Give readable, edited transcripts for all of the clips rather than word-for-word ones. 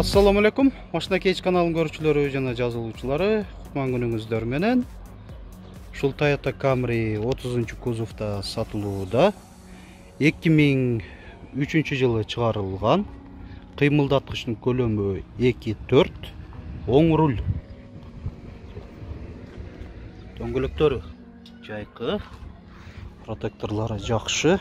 Assalamu alaikum. Машина Кейч каналынын көрүүчүлөрү жана жазылуучулары, кутман күнүңүздөр менен. Ушул Toyota Camry 30-кузовда сатылууда. 2003 жылы чыгарылган. Кыймылдаткычтын көлөмү 2.4, оң руль. Дөңгөлөктөрү жайкы, протекторлары жакшы.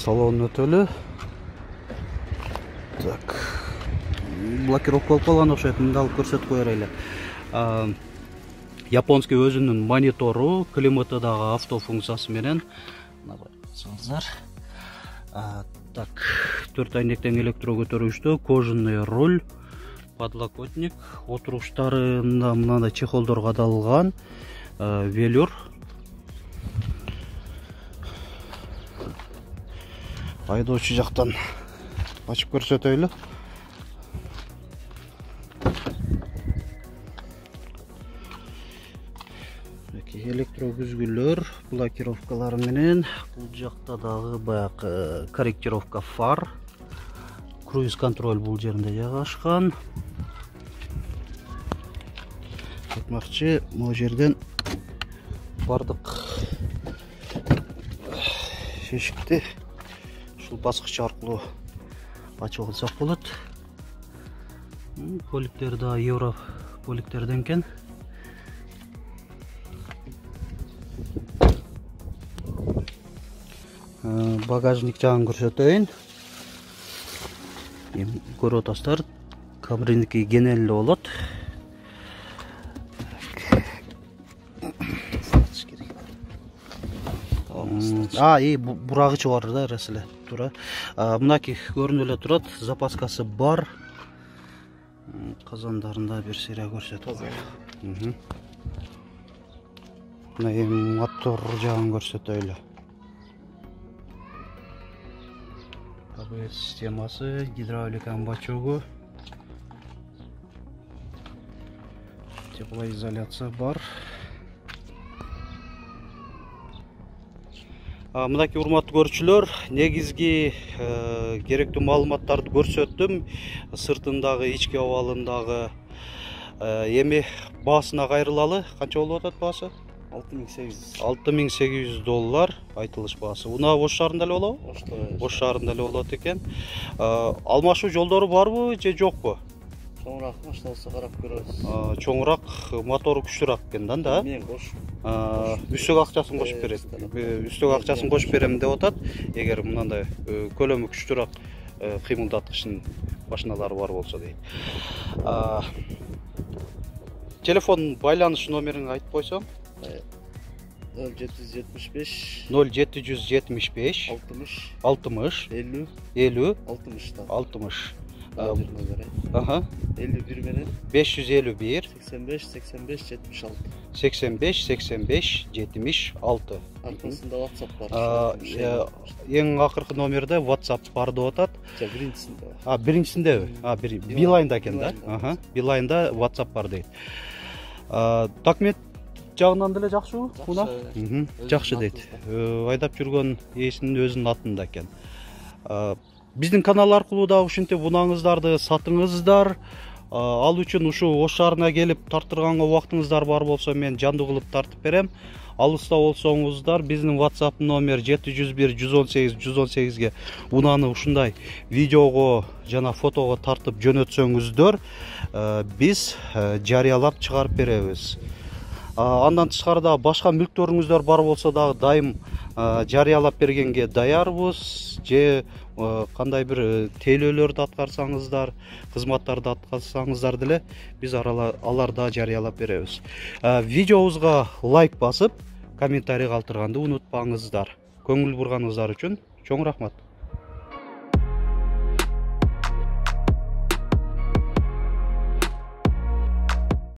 Салон өтөлү. Так. Блокировка болуп калган окшойт. Мында алып көрсөтүп коер эле. Японский өзүнүн монитору, климаты дагы авто функциясы менен. Мына байкасаңыздар. Так, 4 айнектен электро көтөрүүчтүү, кожаный руль, подлокотник, отуруштарында мындай чехолдор кадалган, велюр. Айдоочу жактан ачып көрсөтөйлү. Электро бүзгүлөр, блокировкалар менен, бул жакта дагы баягы корректировка фар, круиз контроль бул жеринде жайгашкан. Айтмакчы, могу жерден бардык эшикти ушул баскыч аркылуу ачып алсак болот. Полиптер да евро поликтерден экен. Багажник жагын көрсөтөйүн. Эми көрүп атасыздар, Camry'ники кенен эле болот. Бурагычы бар да, эреселе тура. Мынаки көрүнүп эле турат, запаскасы бар. Казандарында бир серия көрсөтөт. Мына эми мотор жагын көрсөтөйлү. ABS системасы, гидравликанын бачогу, теплоизоляция бар. Мынакей урматтуу көрүүчүлөр, негизги керектүү маалыматтарды көрсөттүм. Сыртындагы, ички абалындагы. Эми баасына кайрылалы. Канча болуп атат баасы? $6,800 айтылыш баасы. Унаа Ош шаарында эле болобу? Ош шаарында эле болот экен. Алмашуу жолдору барбы же жокпу? Чоңураак машина болсо карап көрөбүз. Чоңураак, мотору күчтүүрөөк экен да? Мен кош. Үстөк акчасын кошуп берет. Үстөк акчасын кошуп берем деп атат. Эгер мындай көлөмү күчтүүрөөк кыймылдаткычтын машиналары бар болсо дейт. Телефон байланыш номерин айтып койсоң? 0775 60 50 60. 51 менен 551 85 76. Аркасында WhatsApp бар. Эң акыркы номерде WhatsApp бар деп атат. Биринчисинде. Биринчисиндеби? Билайнда экен да? Билайнда WhatsApp бар дейт. Документ жагынан деле жакшыбы? Жакшы дейт. Айдап жүргөн ээсинин өзүнүн атында экен. Биздин канал аркылуу да ушинтип унааңыздарды сатыңыздар. Ал үчүн ушу Ош шаарына келип тарттырганга убактыңыздар бар болсо мен жандуу кылып тартып берем. Алыста болсоңуздар биздин WhatsApp номер 701 118 118ге унааны ушундай видеого жана фотого тартып жөнөтсөңүздөр, биз жарыялап чыгарып беребиз. Андан тышкарыда башка мүлктөрүңүздөр бар болсо дагы дайым жарыялап бергенге даярбыз. Же кандай бир тейлөөлөрдү аткарсаңыздар, кызматтарды аткарсаңыздар деле биз аларда жарыялап беребиз. Видеобузга лайк басып, комментарий калтырганды унутпаңыздар. Көңүл бурганыңыздар үчүн чоң рахмат.